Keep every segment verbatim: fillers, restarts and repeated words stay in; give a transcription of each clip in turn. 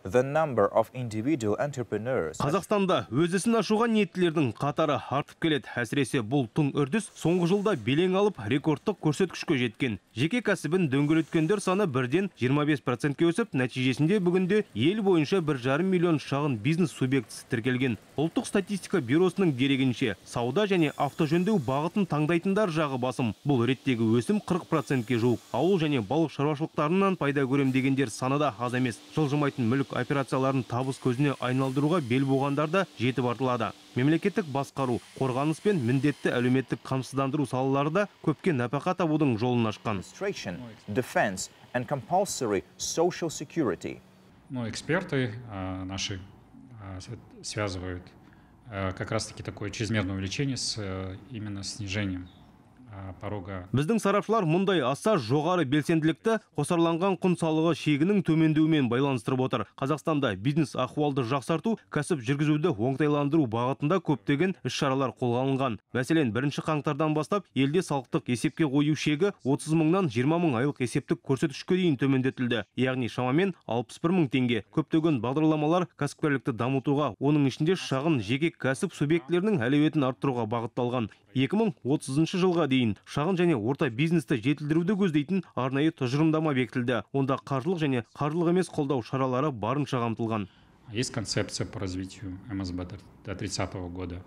The number of individual entrepreneurs. Қазақстанда өз ісін ашуға ниеттілердің қатары артып келеді. Әсіресе бұл тың үрдіс соңғы жылда белең алып рекордтық көрсеткішке жеткен. Жеке кәсібін дөңгелеткендер саны бірден жиырма бес процентке өсіп, нәтижесінде бүгінде ел бойынша бір жарым миллион шағын бизнес субъектісі тіркелген. Ұлттық статистика бюросының дерегінше, сауда және автожөндеу бағытын таңдайтындар жағы басым. Бұл реттегі өсім қырық процентке жуық. Ауыл және балық шаруашылықтарынан пайда көрем дегендер саны да аз емес. Жылжымайтын мүлік операцияларын табыс көзіне айналдыруға бел буғандар да жетіп артылады. Мемлекеттік басқару, қорғаныс пен міндетті әлеуметтік қамсыздандыру салалары да көпке нәпақа табудың жолын ашқан. Defense and compulsory social security. Ну, эксперты а, наши а, связывают а, как раз-таки такое чрезмерное увеличение с а, именно снижением порога. Біздің сарапшылар мұндай аса жоғары белсенділікті қосарланған құн салығы шегінің төмендеуімен байланыстырып отыр. Қазақстанда бизнес ахуалды жақсарту, кәсіп жүргізуді оңтайландыру бағытында көптеген іс-шаралар қолға алынған. Мәселен, бірінші қаңтардан бастап елде салықтық есепке қою шегі отыз мыңнан жиырма мың айлық есептік көрсеткішке дейін төмендетілді. Яғни шамамен алпыс бір мың теңге. Көптеген бағдарламалар кәсіпкерлікті дамытуға, оның ішінде шағын жеке кәсіп субъектілерінің әлеуетін арттыруға бағытталған. екі мың отызыншы жылға дейін шағын және орта бизнесті жетілдіруді көздейтін арнайы тұжырымдама бекітілді. Онда қаржылық және қаржылық емес қолдау шаралары барынша қамтылған. Есть концепция по развитию эм эс бэ до тридцатого года.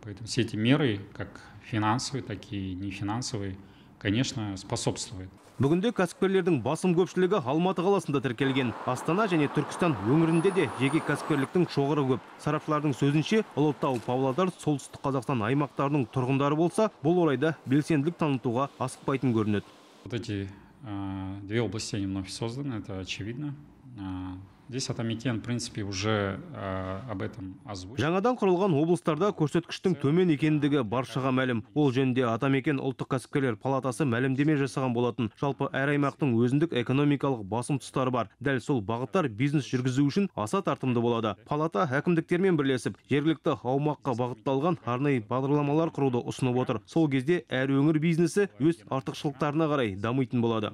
Поэтому все эти меры, как финансовые, так и нефинансовые, конечно, способствуют. Бүгінде кәсіпкерлердің басым көпшілігі Алматы қаласында тіркелген. Астана және Түркістан өңірінде де жеке кәсіпкерліктің шоғыры көп. Сарапшылардың сөзінше, Ұлытау, Павлодар, Солтүстік Қазақстан аймақтарының тұрғындары болса, бұл орайда белсенділік танытуға асықпайтын көрінеді. Вот эти э, две области они вновь созданы, это очевидно. Э, Здесь Атамекен, в принципе, уже э, об этом озвучил. Жаңадан құрылған облыстарда көрсеткіштің төмен екендігі баршаға мәлім. Ол жөнінде Атамекен ұлттық кәсіпкерлер палатасы мәлімдеме жасаған болатын. Жалпы әр аймақтың өзіндік экономикалық басым тұстары бар. Дәл сол бағыттар бизнес жүргізу үшін аса тартымды болады. Палата әкімдіктермен бірлесіп, жергілікті аумаққа бағытталған арнайы бағдарламалар құруды ұсынып отыр. Сол кезде әр өңір бизнесі өз артықшылықтарына қарай дамитын болады.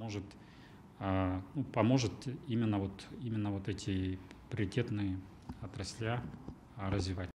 Ну, поможет именно вот, именно вот эти приоритетные отрасли развивать.